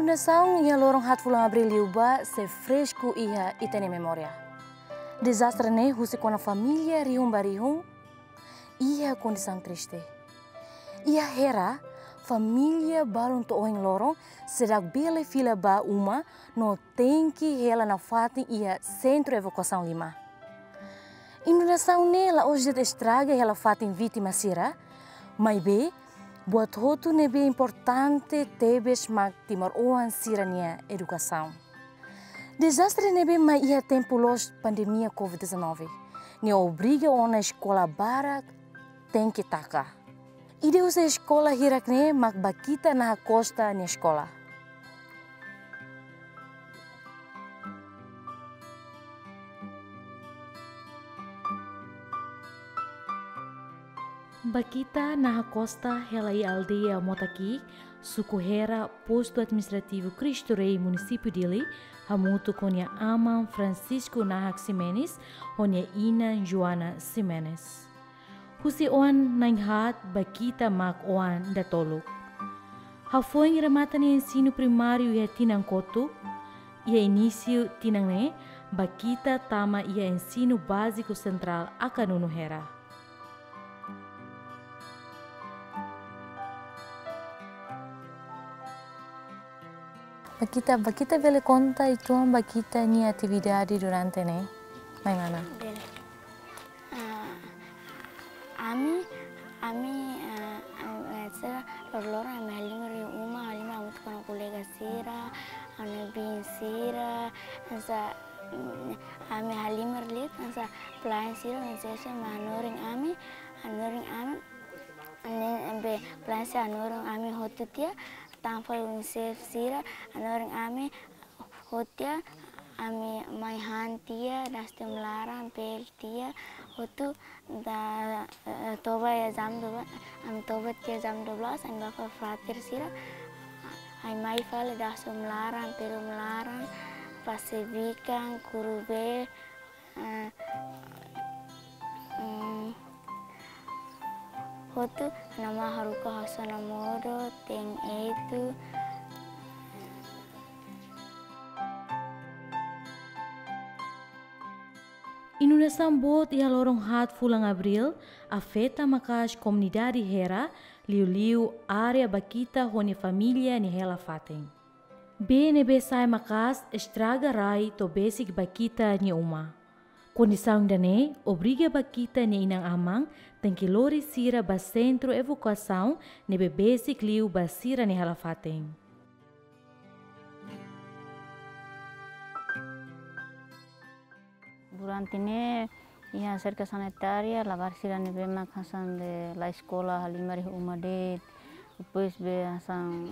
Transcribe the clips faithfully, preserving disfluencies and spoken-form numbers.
Inundasaun iha loron haat fulan Abríl liubá sei fresku iha ita-nia memória. Dezastre ne'e husik ona família rihun ba rihun iha kondisaun triste. Iha Hera, família balun to'o ohin loron seidauk bele fila ba uma no tenke hela nafatin iha Sentru Evakuasaun Lima. Inundasaun ne'e la'ós de'it estraga hela fatin vítima sira, maibé buat hotu ne'ebé importante tebes mak timoroan sira-nia edukasaun. Dezastre ne'ebé mai iha tempu loos pandemia covid dezanove ne'e obriga ona eskola barak tenke taka. Ida husi eskola hirak ne'e mak Bakita Naha Costa nia eskola. Bakita Naha Costa hela iha aldeia Motaki'ik, suku Hera, postu administrativu Cristo Rei, munisípiu Dili, hamutuk ho nia aman Francisco Nahak Ximenes, ho nia inan Joana Ximenes. Husi oan na'in-haat, Bakita mak oan datoluk. Hafoin remata nia ensinu primáriu iha tinan kotuk, iha inísiu tinan ne'e, Bakita tama iha Ensinu Báziku Sentrál Akanunu Hera. Bakita, Bakita bele konta uitoan Bakita nia atividade durante ne'e? Mai mana? Bele. Ah, ami, ami, ah, ah, eh, sira loroloron ami halimar iha uma, halimar hamutuk ho kolega sira, ami bin sira, hanesan, mm, ami halimar liu, hanesan pelayan sira, hanesan sira mak hanorin ami, hanorin ami, ne'ebé pelayan sira hanorin ami hotu tiha, tanba UNICEF sira hanorin ami hotu tiha, ami mai han tiha, dasa tiha uma laran, bele tiha, hotu da, eh, toba iha jam dua belas, ami toba tiha jam dua belas, ami bá fali frater sira, ami mai fali dasa uma laran, bele uma laran, pase bikan, kuru bee, eh, mm, hotu, ami haruka hosi ona modo, te'in etu. Inundasaun boot iha loron haat fulan Abríl afeta maka'as komunidade Hera, liuliu área Bakita ho nia família nia hela fatin. Bee ne'ebé sa'e maka'as estraga rai to'o besik Bakita nia uma. Kondisaun ida-ne'e obriga Bakita nia inan-aman tenke lori sira ba sentru evakuasaun ne'ebé besik liu ba sira-nia hela fatin. Durante ne'e iha serka sanitária, labarik sira ne'ebé mak hanesan be la eskola, halimar iha uma de'it. Depois be hanesan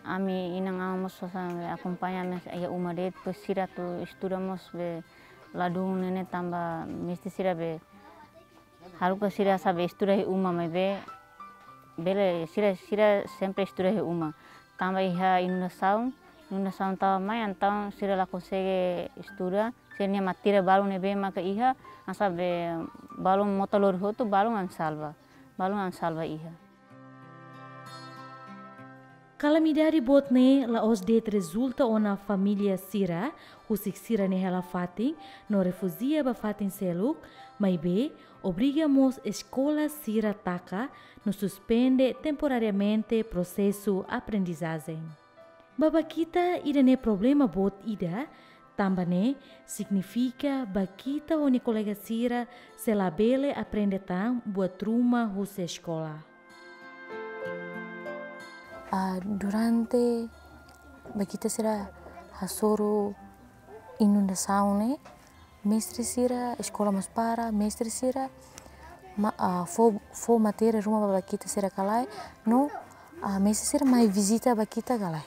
ami inan-aman mós hanesan be akompaña ami iha uma de'it, depois sira atu estuda mós be ladún ne'e tanba mesti sira be haruka sira hanesan be estuda iha uma maibé bele sira, sira sempre estuda iha uma. Tanba iha inundasaun, inundasaun tau mai entaun sira la konsege estuda, sira-nia matéria balun ne'ebé maka iha, hanesan be balun mota lori hotu, balun ami salva, balun ami salva iha. Kalamidade boot ne'e la'ós de'it rezulta ona família sira husik sira-nia hela fatin no refújia ba fatin seluk, maibé obriga mós eskola sira taka no suspende temporariamente prosesu aprendizajen. Ba Bakita ida-ne'e problema boot ida, tanba ne'e signifika Bakita ho nia kolega sira sei la bele aprende tan buat ruma husi eskola. Ah, durante Bakita sira hasoru inundasaun ne'e, mestre sira, eskola mós para, mestre sira ma-, ah, fó, fó matéria ruma ba Bakita sira ka lae, no, ah, mestre sira mai vizita Bakita ka lae?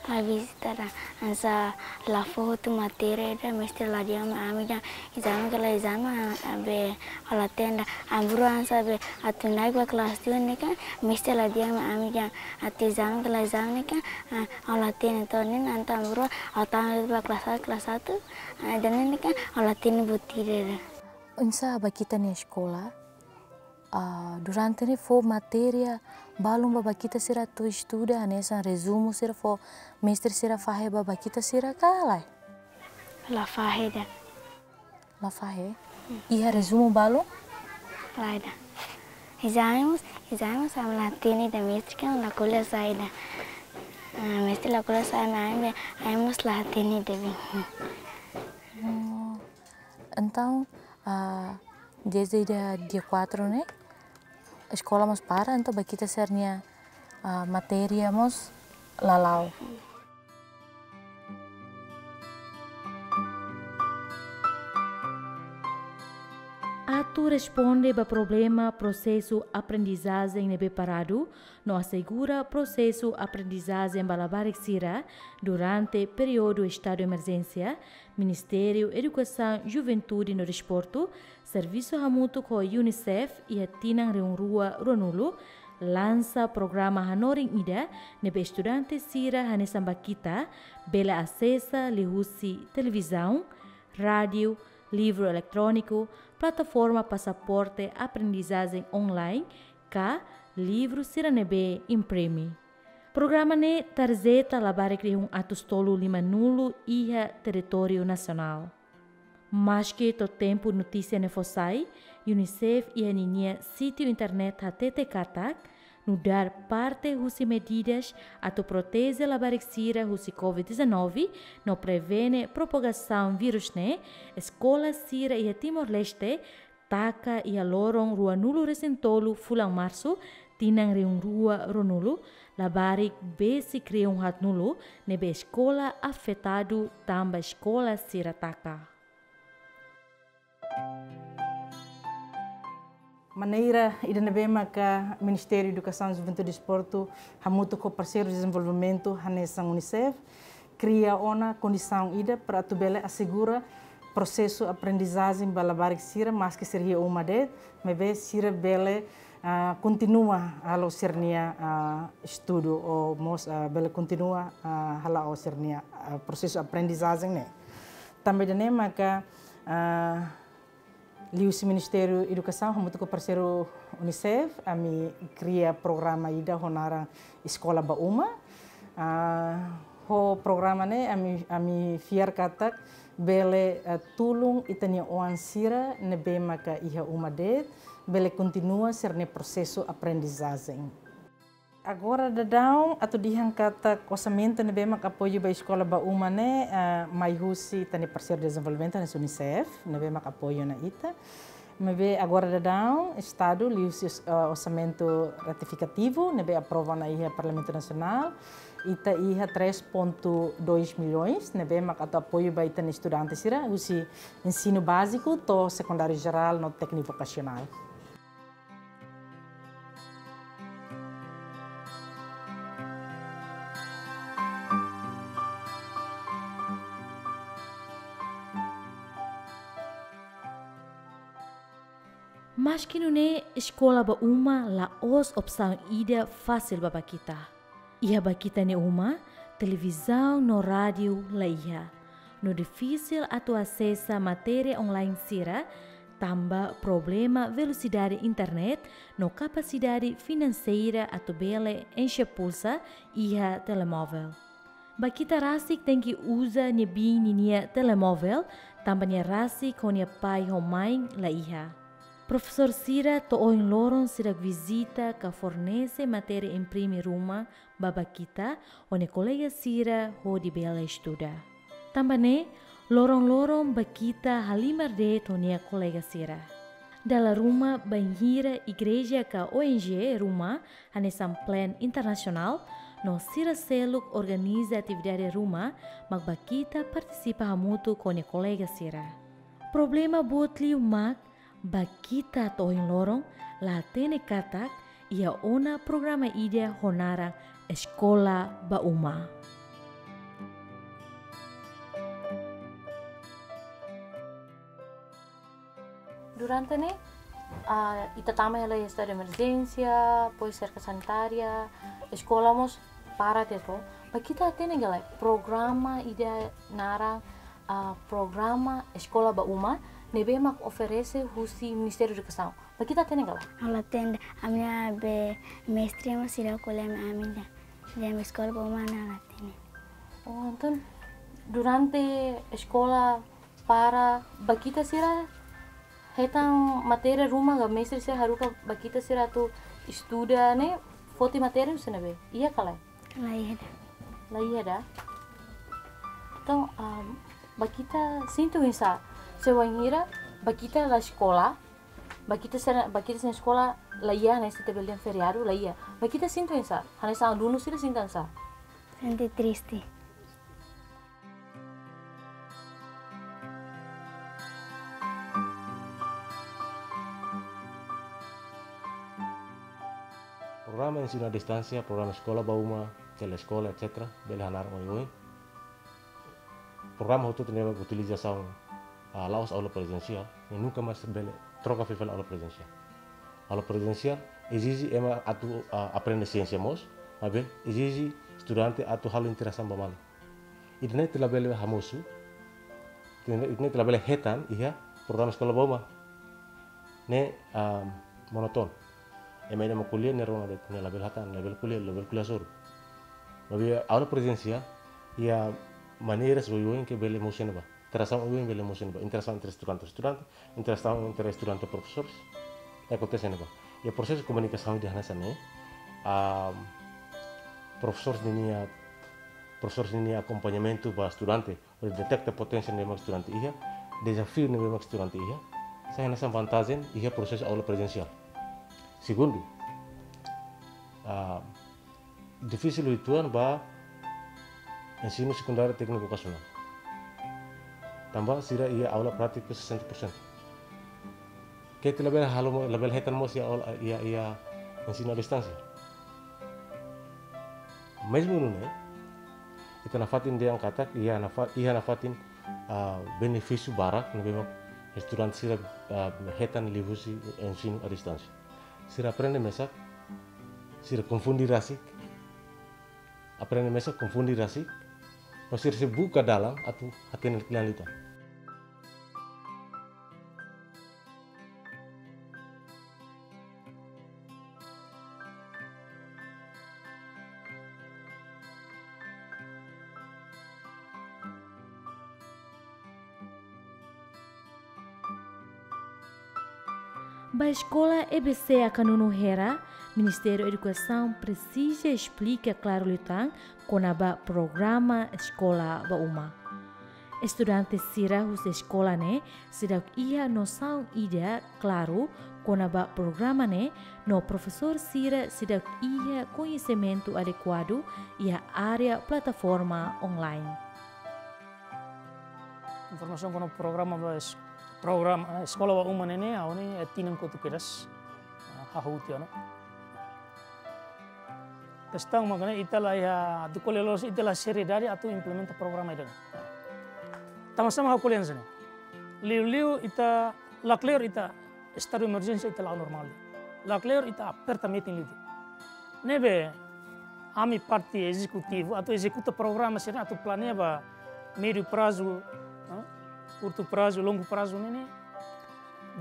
Mai vizita ida, hanesan la fó hotu matéria ida, mestre la dehan mai ami dehan ezame ka lae, ezame, ah, be ha'u la hatene ida. Ami rua hanesan be atu na'in ba kelas dua ne'e kan, mestre la dehan mai ami dehan atu ezame ka lae, ezame ne'e kan, ah, ha'u la hatene. Entaun ne'e entaun ami rua, ha'u tama ba kelas satu, kelas satu, ah, ida-ne'e kan ha'u la hatene buat ida. Oinsá Bakita nia eskola Ah, durante ne'e fó matéria balun ba bainhira sira atu estuda, hanesan rezumu sira fó mestre sira fahe ba bainhira sira ka lae? La fahe ida. La fahe? Iha rezumu balun? Lae ida. Ezame mós, ezame mós ami la hatene ida, mestre kan la ko'alia sai ida. Ah, mestre la ko'alia sai ami, ami mós la hatene ida be. Oh. Entaun, ah, desde dia, dia quatro ne'e, eskola mós para, entaun bainhira sira-nia, ah, matéria mós la la'o. Atu responde ba problema prosesu aprendizajen ne'ebé paradu, no asegura prosesu aprendizajen ba labarik sira durante períodu estadu emerjénsia, Ministériu Edukasaun, Juventude no Desportu, servisu hamutuk ho UNICEF iha tinan rihun rua ruanulu, lansa programa hanorin ida ne'ebé estudante sira hanesan bainhira bele asesa liuhusi televizaun, rádiu, livru eletróniku, plataforma pasaporte aprendizajen online, ka livru sira ne'ebé imprime. Programa ne'e tarjeta labarik rihun atus tolu limanulu iha territóriu nasionál. Maski to'o tempu notísia ne'e fó sai, UNICEF iha ninia sítiu internet hatete katak, nu'udar parte husi medidas atu proteje labarik sira husi covid dezanove no prevene propagasaun vírus ne'e, eskola sira iha Timor-Leste taka iha loron ruanulu resin tolu fulan Marsu, tinan rihun rua ruanulu, labarik besik rihun haatnulu ne'ebé eskola afetadu tanba eskola sira taka. Maneira ida ne'ebé maka Ministériu Edukasaun, Juventude no Desportu hamutuk ho parseiru dezenvolvimentu hanesan UNICEF kria ona kondisaun ida para atu bele asegura prosesu aprendizajen ba labarik sira, maski sira iha uma de'it, maibé sira bele, ah, kontinua halo sira-nia, ah, estudu ou mós, ah, bele kontinua, ah, hala'o sira-nia, ah, prosesu aprendizajen ne'e. Tanba ida-ne'e maka, ah, liuhusi Ministériu Edukasaun hamutuk ho parseiru UNICEF, ami kria programa ida ho naran Eskola ba Uma. Ah, ho programa ne'e ami, ami fiar katak bele, eh, tulun ita-nia oan sira ne'ebé maka iha uma de'it, bele kontinua sira-nia prosesu aprendizajen. Agora daudaun atu dehan katak orsamentu ne'ebé mak apoiu ba Eskola ba Uma ne'e, eh, mai husi ita-nia parseiru dezenvolvimentu hanesan UNICEF, ne'ebé mak apoiu ona ita. Maibé agora daudaun Estadu liuhusi, eh, orsamentu retifikativu ne'ebé aprova ona iha Parlamentu Nasionál, ita iha três ponto dois milhões ne'ebé mak atu apoiu ba ita-nia estudante sira husi ensinu báziku to'o sekundáriu jerál no tékniku vokasionál. Maski nune'e, Eskola ba Uma la'ós opsaun ida fasil ba bainhira. Iha bainhira nia uma, televizaun no rádiu la iha. No difisil atu asesa matéria online sira, tanba problema velosidade internet no kapasidade finanseira atu bele enxe pulsa iha telemovel. Bainhira rasik tenke uza nia biin ninia telemovel, tanba nia rasik ho nia pai ho mãe la iha. Profesór sira to'o ohin loron seidauk vizita ka fornese matéria imprime ruma ba bainhira ho nia kolega sira hodi bele estuda. Tanba ne'e, loron-loron bainhira halimar de'it ho nia kolega sira. Dala ruma bainhira igreja ka ONG ruma hanesan Plan Internasionál no sira seluk organiza atividade ruma mak bainhira partisipa hamutuk ho nia kolega sira. Problema boot liu mak bainhira to'o ohin loron la hatene katak iha ona programa ida ho naran Eskola ba Uma. Durante ne'e, ah, ita tama hela iha estadu emerjénsia, depois serka sanitária, eskola mós para de'it. Bainhira hatene ka lae programa ida naran Ah, programa Eskola ba Uma ne'ebé mak oferese husi Ministériu Edukasaun. Ba ita hatene ka lae? Ha'u la hatene, ami-nia be mestre mós seidauk ko'alia ami-nia. Dehan Eskola ba Uma ne'e la hatene. Oh, entaun durante eskola para ba ita sira hetan matéria ruma ka mestre sira haruka ba ita sira atu estuda ne'e foti matéria husi ne'ebé? Iha ka lae? La iha ida. La iha ida. Entaun, am, ba ita sente oinsá? Se wainhira ba ita la eskola, ba ita sira, ba ita sira eskola la iha, hanesan ita bele dehan feriadu la iha. Ba ita sente oinsá? Hanesan alunu sira sente oinsá? Sente triste. Programa ensinu à distánsia, programa Eskola ba Uma, Teleeskola, et cetera, bele hanaran oioin. Programa hotu-hotu ne'ebé utilizasaun, ah, la'ós aula prezensiál, ne'e nunka mais bele troka fila fali aula prezensiál. Aula prezensiál ezije ema atu, ah, aprende siénsia mós, maibé ezije estudante atu halo interasaun ba malu. Ida-ne'e ita labele hamosu, ita-ne'e ita labele hetan iha programa Eskola ba Uma. Ne'e, ah, monotonu. Ema ida mak ko'alia ne'e rona de'it, ne'e labele hatán, labele ko'alia, labele ko'alia hasoru. Maibé aula prezensiál iha maneiras oioin ke bele mosu iha ne'ebá. Interasaun oioin bele mosu iha ne'ebá. Interasaun entre estudante ho estudante, interasaun entre estudante ho profesór. Ne'e akontese iha ne'ebá. Iha prosesu komunikasaun ida hanesan ne'e, ah, profesór ninia, profesór ninia akompañamentu ba estudante, hodi deteta poténsia ne'ebé mak estudante iha, dezafiu ne'ebé mak estudante iha, sai hanesan vantajen iha prosesu aula prezensiál. Segundu, ah, difisil uitoan ba ensinu sekundáriu tékniku vokasionál. Tanba sira iha aula prátiku sesenta por cento. Ke ita labele halo mo-, labele hetan mós iha aula, iha, iha ensinu à distánsia. Mezmu nune'e, ita nafatin dehan katak, iha nafa-, iha nafatin, ah, benefísiu barak ne'ebé mak estudante sira, ah, hetan liuhusi ensinu à distánsia. Sira aprende mesak, sira konfunde rasik, aprende mesak, konfunde rasik, no sira sei buka dalan atu hatene kle'an liután. Ba eskola E B C Akanunu Hera, Ministériu Edukasaun presiza esplika klaru liután kona-ba programa Eskola ba Uma. Estudante sira husi eskola ne'e seidauk iha nosaun ida klaru kona-ba programa ne'e, no profesór sira seidauk iha koñesimentu adekuadu iha área plataforma online. Informasaun kona programa ba es-, programa, eh, Eskola ba Uma ne'e ne'e, ha'u ne'e, eh, tinan kotuk kedas, eh, hahú tiha ona. Kestaun mak ne'e, ita la iha, atu ko'alia loloos, ita la seriedade atu implementa programa ida-ne'e. Tanba sá mak ha'u ko'alia hanesan ne'e? Liuliu ita, lakleur ita estadu emerjénsia ita la'o normál. Lakleur ita aperta metin liu. Ne'ebé ami parte ezekutivu atu ezekuta programa sira atu planeia ba médiu prazu, eh, kurtu prazu, longu prazu ne'e ne'e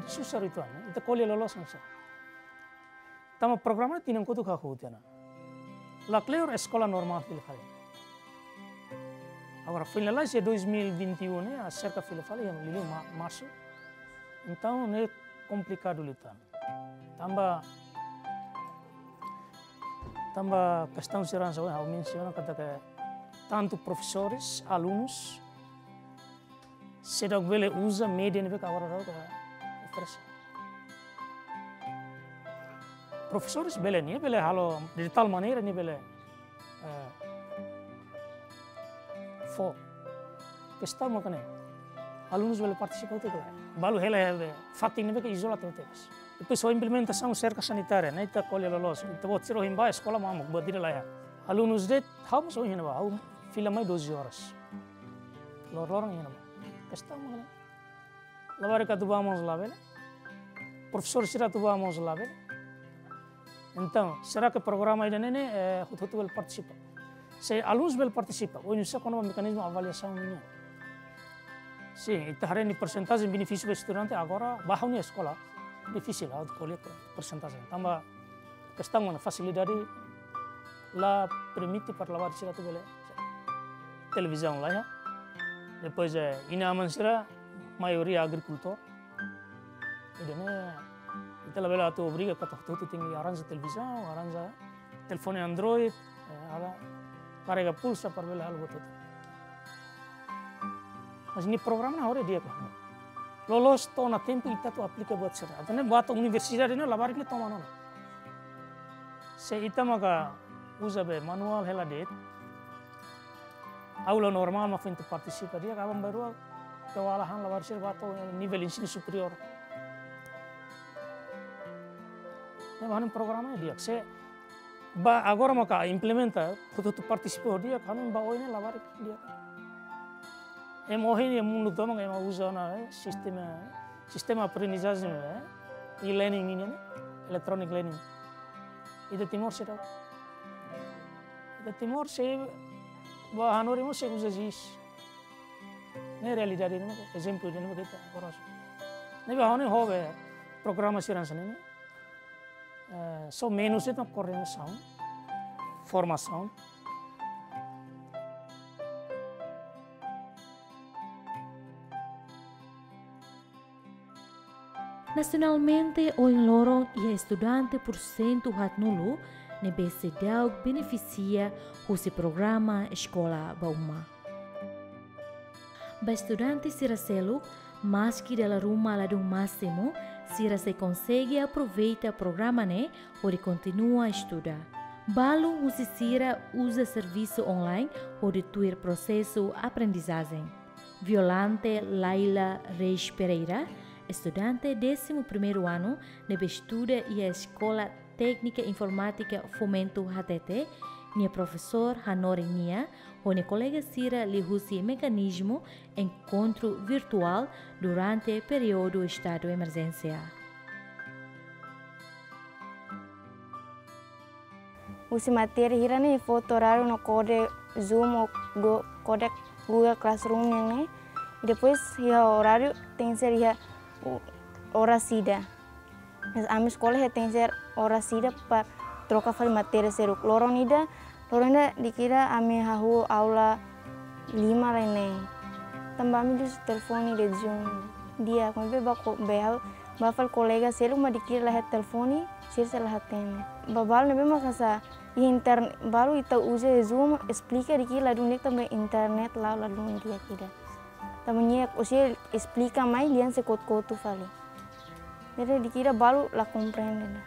susar uitoan, ita ko'alia loloos hanesan ne'e. Tanba programa ne'e tinan kotuk hahú tiha ona. Lakleur eskola normál fila fali. Agora, foin lalais iha dois mil e vinte e um ne'e, aserka fila fali iha liuliu ma-, marsu. Entaun, ne'e komplikadu liután. Tanba, tanba kestaun sira hanesan ha'u mensiona katak tantu profesores, alunus, seidauk bele uza média ne'ebé agora daudaun oferese. Profesores bele, nia bele halo de tal maneira nia bele, eh, fó. Kestaun mak ne'e. Alunus bele partisipa hotu ka lae? Balu hela iha fatin ne'ebé ke izola tebes. Depois ho implementasaun serka sanitária, ne'e ita ko'alia loloos. Ita-boot sira ohin bá eskola mamuk, buat ida la iha. Alunus de'it, ha'u mós ohin iha ne'ebá, ha'u fila mai doze horas. Lor-loron iha ne'ebá. Kestaun mak ne'e. Labarik atu bá mós labele. Profesór sira atu bá mós labele. Entaun, será ke programa ida-ne'e ne'e, eh, hotu-hotu bele partisipa? Se alunus bele partisipa, oinsá kona-ba mekanizmu avaliasaun nian? Sin, ita haree nia porsentajen benefísiu ba estudante agora ba ha'u-nia eskola. Difisil ha'u ko'alia porsentajen. Tanba kestaun ona fasilidade la permite para labarik sira atu bele. Televizaun laiha. Depois, eh, inan-aman sira maioria agrikultór. Ida-ne'e, ita labele atu obriga katak hotu-hotu tenke arranja televizaun, arranja telefone Android, eh, halo karrega pulsa para bele halo buat hotu. Mas nia programa ne'e agora di'ak ona. Loloos to'o ona tempu ita atu aplika buat sira. Atu ne'e buat universidade ne'e labarik ne'e toman ona. Se ita maka uza be manuál hela de'it, aula normál mak foin atu partisipa di'ak, aban-bainrua kewalahan labarik sira ba to'o nivel ensinu superiór. Ne'e ba ha'u-nia programa ne'e di'ak. Se ba agora maka implementa, hotu-hotu partisipa di'ak, ha'u-nia ba oin ne'e labarik di'ak. Ema ohin iha mundu tomak ema uza ona, eh, sistema, sistema aprendizajen, eh, e-learning nian, eh, electronic learning. Ita Timor seidauk. Ita Timor sei ba hanorin mós sei uza jis. Ne'e realidade ne'e, ezemplu ne'e mak ita agora. Ne'ebé ha'u-nia hobi programa sira hanesan ne'e. Eh, só menus ita koordenasaun, formasaun. Nasionalmente, ohin loron iha estudante pursentu haatnulu ne'ebé seidauk benefisia husi programa Eskola ba Uma. Ba estudante sira seluk, maski dala ruma ladún másimu, sira sei konsege aproveita programa ne'e hodi kontinua estuda. Balu husi sira uza servisu online hodi tuir prosesu aprendizajen. Violante Laila Reis Pereira, estudante désimu primeiru anu ne'ebé estuda iha Eskola Téknika Informátika Fomento hatete, nia profesór hanorin nia ho nia kolega sira liuhusi mekanizmu enkontru virtuál durante períodu estadu emerjénsia. Husi matéria hira ne'e foti oráriu no kode Zoom ou Go-, kode Google Classroom nian ne'e. Depois iha oráriu tenke ser iha u-, oras ida. Mas ami eskola iha tenke ser oras ida para troka fali matéria seluk. Loron ida, loron ida dikira ami hahú aula lima lai ne'e. Tanba ami uza telefone de'it Zoom. Di'ak, maibé ba ko-, be ha'u, ba fali kolega seluk mak dikira la iha telefone, sira sei la hatene. Ba balu ne'ebé mak hanesan iha inter-, balu ita uza Zoom, esplika dikira ladún di'ak tanba internet la'o ladún di'ak ida. Tanba nia, ó sei esplika mai, dehan sei kotu-kotu fali. Jadi dikira balu la komprende ona.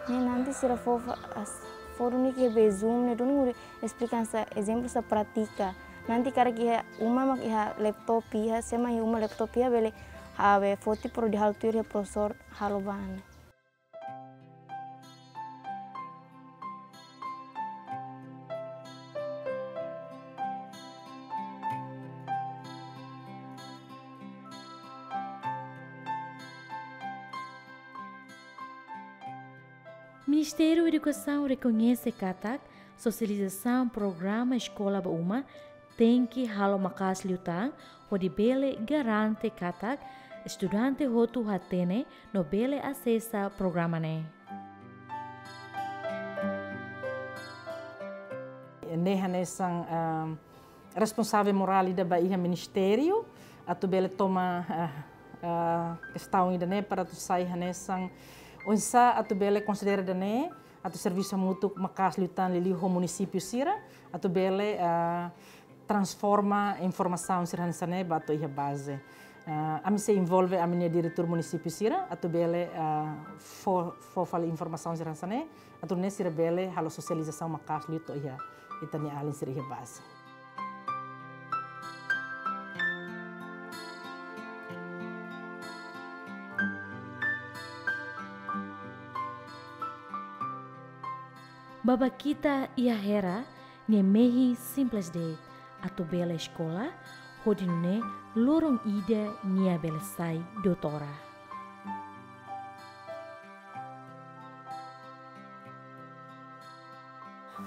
Ne'e nanti sira fó fa-, as-, fó duni ke be Zoom ne'e duni hodi esplika hanesan ezemplu hanesan pratika. Nanti karik iha uma mak iha laptop iha, se mak iha uma laptop iha bele, ah, be foti para hodi halo tuir iha profesór halo ba ne'e. Ministériu Edukasaun rekoñese katak sosializasaun programa Eskola ba Uma tenke halo maka'as liután, hodi bele garante katak estudante hotu hatene no bele asesa programa ne'e. Ne'e hanesan, ah, responsavel morál ida ba iha ministériu, atu bele toma, ah, ah, kestaun ida-ne'e para atu sai hanesan oinsá atu bele konsidera ida-ne'e, atu servisu hamutuk maka'as liután liuliu ho munisípiu sira, atu bele, ah, transforma informasaun sira hanesan ne'e ba to'o iha baze. Ah, ami sei envolve ami-nia diretór munisípiu sira, atu bele, ah, fó, fó fali informasaun sira hanesan ne'e, atu nune'e sira bele halo sosializasaun maka'as liu to'o iha ita-nia alin sira iha baze. Ba Bakhita iha Hera, nia mehi simples de'it, atu bele eskola, hodi nune'e loron ida nia bele sai doutora.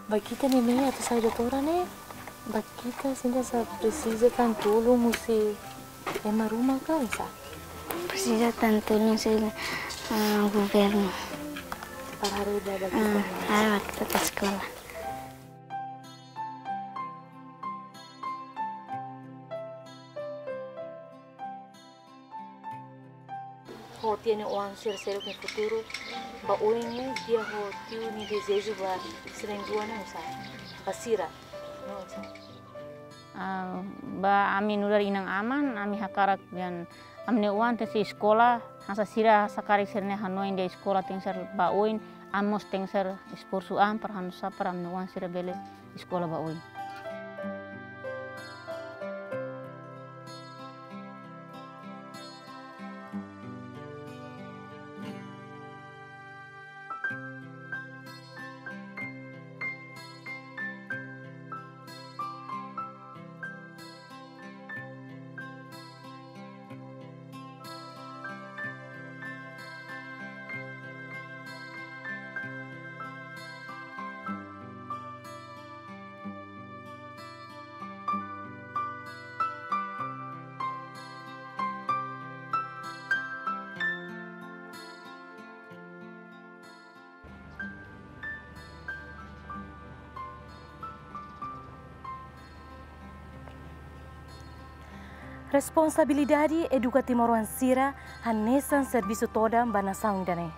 Bakhita nia mehi atu sai doutora ne'e, Bakhita sente hanesan presiza tan tulun husi Ema ruma ka oinsá? Presiza tantu, não sei, ah, governo. Para haree ba, ba, ah, kita, ah, ba kita ta sekolah. Ho tia nia oan sira seluk nia futuru ba oin ne'e, di'ak ho tiu nia dezeju ba sira na'in-rua ne'e oinsá? Ba sira, no oinsá? Ah, ba ami nu'udar inan-aman, ami hakarak dehan ami-nia oan tenke sei eskola, hanesan sira, hanesan karik sira-nia hanoin dehan eskola tenke ser ba oin, ami mós tenke ser esforsu an para hanu'usá para ami-nia oan sira bele eskola ba oin. Responsabilidade eduka timoroan sira hanesan servisu todan ba nasaun ida-ne'e.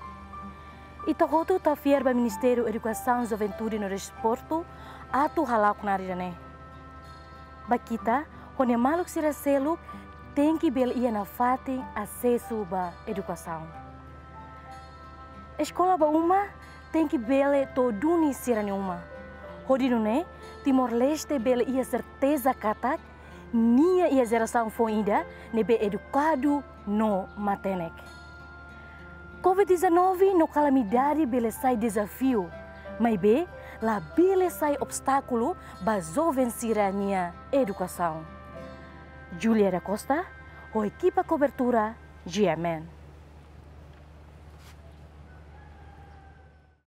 Ita hotu ita fiar ba Ministériu Edukasaun, Juventude no Desportu atu hala'o knaar ida-ne'e. Ba kita, ho nia maluk sira seluk, tenke bele iha nafatin asesu ba edukasaun. Eskola ba uma tenke bele to'o duni sira-nia uma. Hodi nune'e, Timor-Leste bele iha serteza katak nia iha jerasaun foun ida ne'ebé edukadu no matenek. Covid dezanove no kalamidade bele sai dezafiu, maibé labele sai obstákulu ba joven sira-nia edukasaun. Julia da Costa, ho ekipa kobertura G M N.